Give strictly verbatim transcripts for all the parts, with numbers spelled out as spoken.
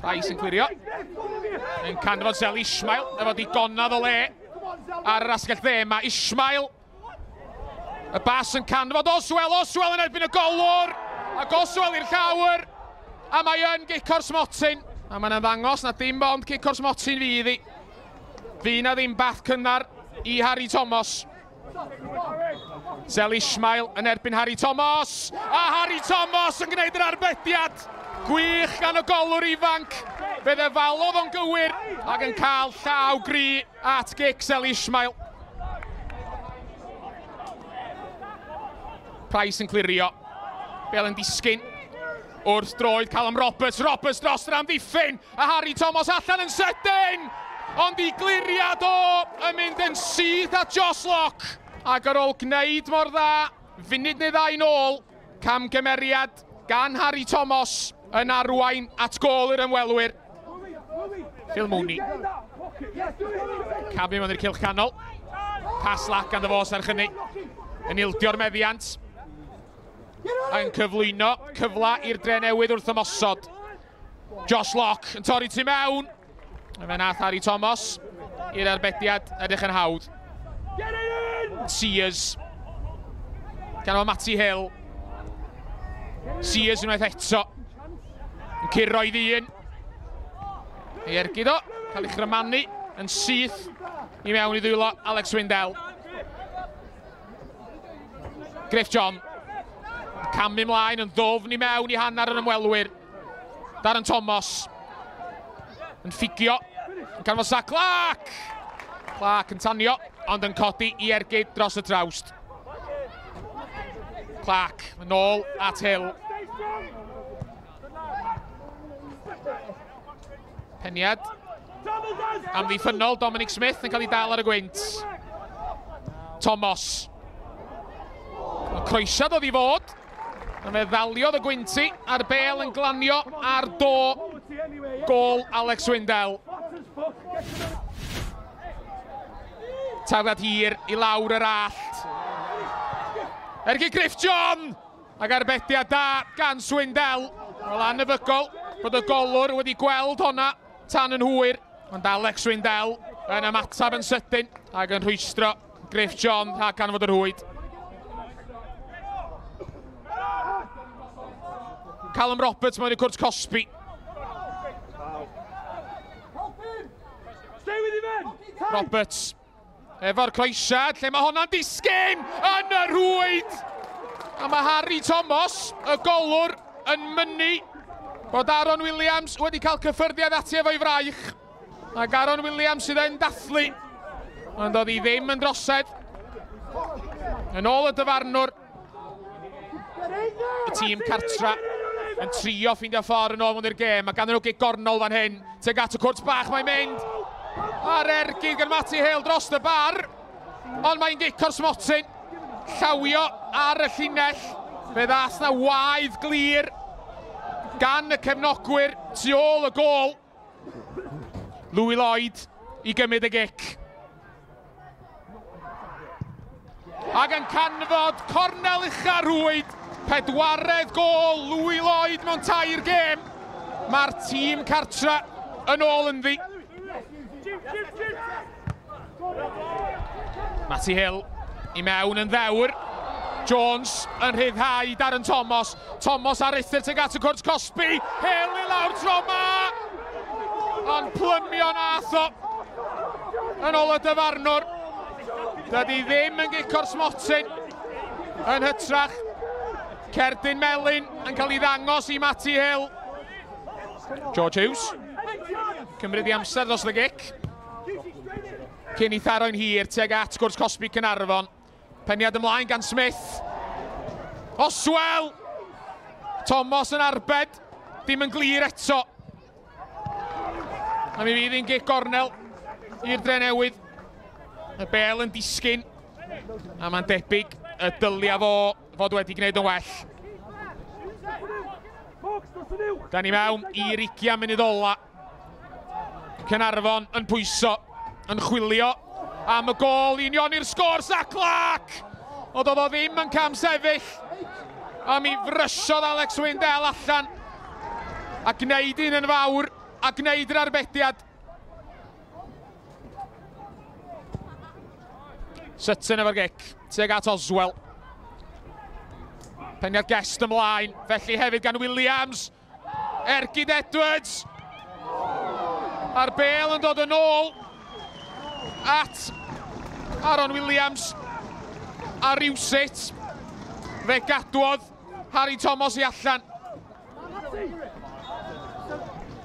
Price yn clirio. Yn canfod Zel Ismail efo digonedd o le ar yr asgell dde. Mae Ismail. Y bas yn canfod Oswell. Oswell yn erbyn y golwr. Ac Oswell i'r llawr. A mae yn gic o'r smotyn. A mae'n ymddangos na dim ond cic o'r smotyn fydd hi. Fy na ddim bath cynnar i Harry Thomas. Zel Ismail yn erbyn Harry Thomas. A Harry Thomas yn gwneud yr arbediad. Gwych gan y golwr ifanc. Fe ddefalodd o'n gywir ac yn cael llaw gry at gic Zel Ismail. Price yn clirio. Bel yn disgyn. Wrth droed Callum Roberts. Roberts dros yr amddiffyn. A Harry Thomas allan yn sydyn. Ond i gliriad o yn mynd yn syth at Josh Locke. Ac ar ôl gwneud mor dda, funud neu ddau nôl, camgymeriad gan Harry Thomas yn arwain at gôl i'r ymwelwyr. Phil Mooney. Camu mewn i'r cylch canol. Pas lac ganddo fo serch hynny. Yn ildio'r meddiant. Yn cyflwyno cyfle i'r Drenewydd wrth ymosod. Josh Locke yn torri tu mewn. Fe nath Harry Thomas i'r arbediad edrych yn hawdd. Sears. Gan o Matty Hill. Sears unwaith eto. Yn curo i ddyn. Ei ergyd o. Cael ei chrymanu yn syth i mewn i ddwylo Alex Windell. Griff John. Camu ymlaen yn ddofn i mewn i hanner yr ymwelwyr. Darren Thomas. Yn ffugio. Yn canfod Zach Clark. Clark yn tanio, ond yn codi i ergyd dros y trawst. Clark yn ôl at Hill. Peniad amddiffynnol Dominic Smith yn cael ei dal ar y gwynt. Thomas. Y croesiad oedd i fod. A fe ddaliodd y gwynti a'r bel yn glanio ar do gôl Alex Windell. Tafliad hir i lawr yr allt. Ergyd Griff John! Ac arbediad da gan Swindell. Wel, anebygol bod y golwr wedi gweld honna tan yn hwyr. Ond Alex Swindell yn ymateb yn sydyn ac yn rhwystro Griff John rhag canfod yr rhwyd. Callum Roberts mewn i cwrt cosbi. Roberts efo'r croesiad, lle mae honna'n disgyn yn y rhwyd. A mae Harry Thomas, y golwr, yn mynnu bod Aaron Williams wedi cael cyffyrddiad ati efo'i fraich. Ac Aaron Williams sydd yn dathlu, ond oedd hi ddim yn drosedd. Yn ôl y dyfarnwr, y tîm cartra yn trio ffeindio ffordd yn ôl mewn i'r gêm. Mae ganddyn nhw gic gornol fan hyn. Tuag at y cwrt bach mae'n mynd. A'r ergyd gan Matty Hill dros y bar. Ond mae'n gic o'r smotyn. Llawio ar y llinell. Fe ddath na waedd glir gan y cefnogwyr tu ôl y gôl. Louis Lloyd i gymryd y gic. Ac yn canfod cornel ucha rhwyd. Pedwaredd gôl Louis Lloyd mewn tair gêm. Mae'r tîm cartra yn ôl ynddi. Matty Hill i mewn yn ddewr. Jones yn rhyddhau Darren Thomas. Thomas ar uthr tuag at y cwrt cosbi. Hill i lawr tro ma. Ond plymio nath o. Yn ôl y dyfarnwr. Dydy ddim yn gic o'r smotyn. Yn hytrach, cerdyn melyn yn cael ei ddangos i Matty Hill. George Hughes. Cymryd i amser dros y gic. Cyn i tharo'n hir tuag at gwrs cosbi Caernarfon. Peniad ymlaen gan Smith. Oswell! Thomas yn arbed. Dim yn glir eto. A mi fydd hi'n gic gornel i'r Drenewydd. Y bel yn disgyn. A mae'n debyg y dylia fo fod wedi gwneud yn well. Da ni mewn i'r ugian munud ola. Caernarfon yn pwyso, yn chwilio am y gôl i unioni'r sgôr. Zach Clark! Ond oedd o ddim yn cam sefyll. A mi frysiodd Alex Windell allan a gwneud un yn fawr. a gwneud yr arbediad. Sutton efo'r gic, tuag at Oswell. Peniad Guest ymlaen, felly hefyd gan Williams. Ergyd Edwards. A'r bel yn dod yn ôl at Aaron Williams. A rywsut, fe gadwodd Harry Thomas i allan.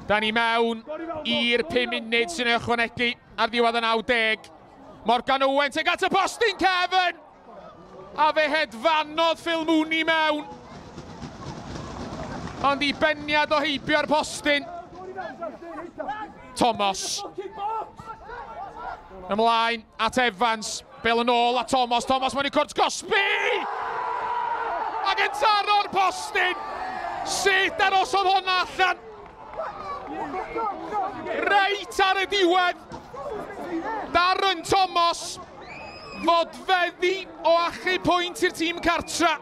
Da ni mewn i'r pum munud sy'n ei ychwanegu ar ddiwedd y naw deg. Morgan Owen tuag at y postyn cefn! A fe hedfanodd Phil Mooney mewn. Ond i beniad o heibio'r postyn. Thomas. Ymlaen at Evans. Bel yn ôl at Thomas. Thomas mewn i cwrt cosbi! Ac yn taro'r postyn! Sut arosodd hwnna allan? Reit ar y diwedd. Darren Thomas fodfeddi o achub pwynt i'r tîm cartra.